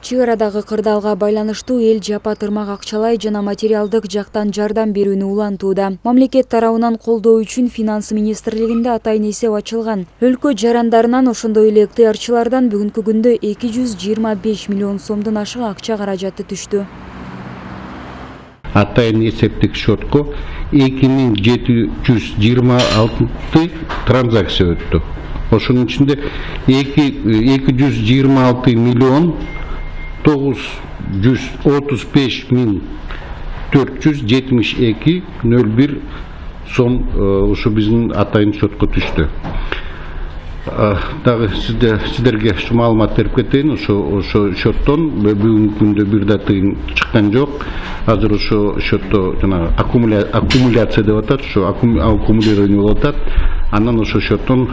Чыгыр арадагы кырдаалга байланыштуу эл жапа тырмак акчалай жана материалдык жактан жардам берүүнү улантууда. Мамлекет тарабынан колдоо үчүн Финанс министрлигинде атайын эсеп ачылган. Өлкө жарандарынан ошондой эле ыктыярчылардан бүгүнкү күндө 225 миллион сомдон ашык акча каражаты түштү. Атайын эсептик счетко 2726 транзакция өттү. Ошонун ичинде 226 миллион 935 миң 472,01 сом ушу биздин атайын счетко түштү. Дагы сиздерге ушу маалымат берип кетейин, ошо счеттон бүгүнкү күндө бир да тыйын чыккан жок. Азыр ошо счетто жана аккумуляция деп атат, ошо аккумулирование болуп атат. Анан ошо счеттон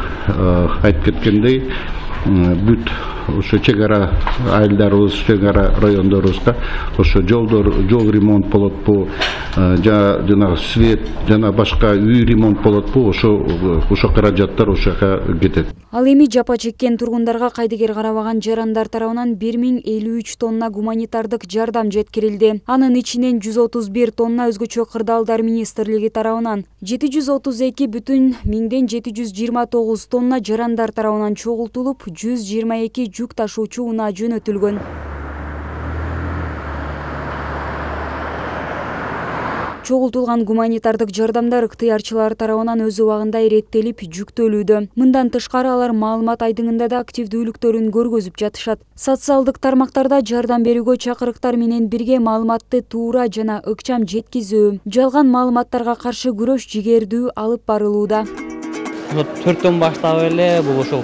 айтып кеткендей бүт ошо чек ара айылдарыбыз, чек ара райондорубузга ошо жол ремонт болотпу, жана свет жана башка үй ремонт болотпу, ошо каражаттар ошо жака кетет. Ал эми жапа чеккен тургундарга кайдыгер карабаган жарандар тарабынан 1053 тонна гуманитардык жардам жеткирилди. Анын ичинен 131 тонна өзгөчө кырдаалдар министрлиги тарабынан, 732,729 тонна жарандар тарабынан чогултулуп, 122 жүк ташуучу унаа жөнөтүлгөн. Чогултулган гуманитардык жардамдар ыктыярчылар тарабынан өз убагында иреттелип, жүктөлүүдө. Мындан тышкары алар маалымат айдыңында да активдүүлүктөрүн көргөзүп жатышат. Социалдык тармактарда жардам берүүгө чакырыктар менен бирге маалыматты туура жана ыкчам жеткизүү, жалган маалыматтарга каршы күрөш жигердүү алып барылууда. 4төн баштап эле бул ошол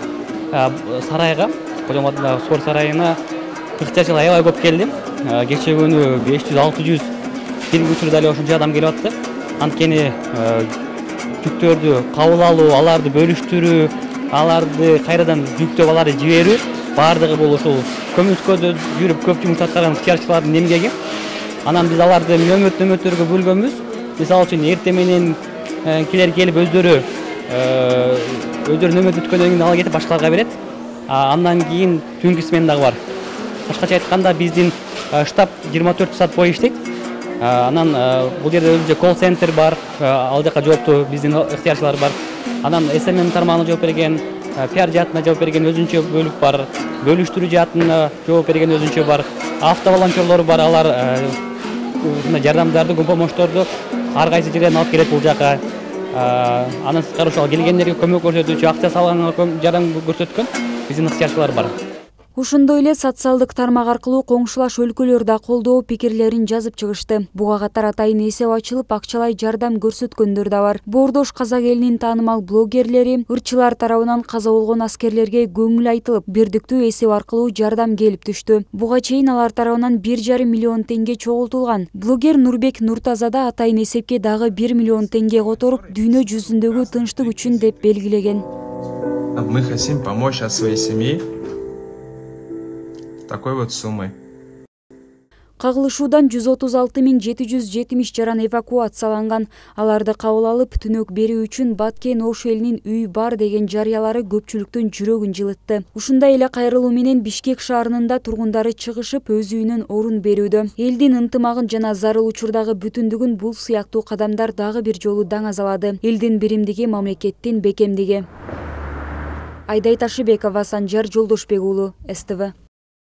сарайга, Кожоматындагы спорт сарайына ыктыярчылар аябай көп келди. Кечээ күнү 500-600 бир учурда эле ошончо адам келип атты. Анткени жүктөрдү кабыл алуу, аларды бөлүштүрүү, аларды кайрадан жүктөп аларды жиберүү баардыгы бул ошол көмүскөдө жүрүп көп жумуш аткарган ыктыярчылардын эмгеги. Анан биз аларды нөмөттөргө бөлгөнбүз. Мисалы үчүн эртең менен килер келип өздөрү нөмөт өткөндөн кийин ала кетип башкаларга берет. Андан кийин түнкү смена дагы бар. Башкача айтканда биздин штаб 24 саат бою иштейт. Анан бул жерде өзүнчө колл-центр бар, ал жака жооптуу биздин ыктыярчылар бар. Анан СММ тармагына жооп берген, пиар жаатына жооп берген өзүнчө бөлүк бар, бөлүштүрүү жаатына жооп берген өзүнчө бар. Автоволонтерлор бар, алар жардамдарды, помощторду ар кайсы жерден алып келет бул жака. Анан сырткары ошол келгендерге көмөк көрсөтүүчү, акча салганга жардам көрсөткөн биздин ыктыярчылар бар. Ошондой эле социалдык тармак аркылуу коңшулаш өлкөлөр да колдоо пикирлерин жазып чыгышты. Буга катар атайын эсеп ачылып, акчалай жардам көрсөткөндөр да бар. Боордош казак элинин таанымал блогерлери ырчылар тарабынан каза болгон аскерлерге көңүл айтылып, бирдиктүү эсеп аркылуу жардам келип түштү. Буга чейин алар тарабынан 1,5 миллион теңге чогултулган. Блогер Нурбек Нуртаза да атайын эсепке дагы 1 миллион теңге которуп, дүйнө жүзүндөгү тынчтык үчүн деп белгилеген. Мы хотим помочь от своей семьи такой вот суммой. Кагылышуудан 136,770 жаран эвакуацияланган. Аларды кабыл алып, түнөк берүү үчүн Баткен Ош элинин үй бар деген жарыялары көпчүлүктүн жүрөгүн жылытты. Ушундай эле кайрылуу менен Бишкек шаарынын да тургундары чыгышып, өз үйүнөн орун берүүдө. Элдин ынтымагын жана зарыл учурдагы бүтүндүгүн бул сыяктуу кадамдар дагы бир жолу даңазалады. Элдин биримдиги, мамлекеттин бекемдиги. Айдай Ташыбекова, Санжар Жолдошбек уулу, СТВ.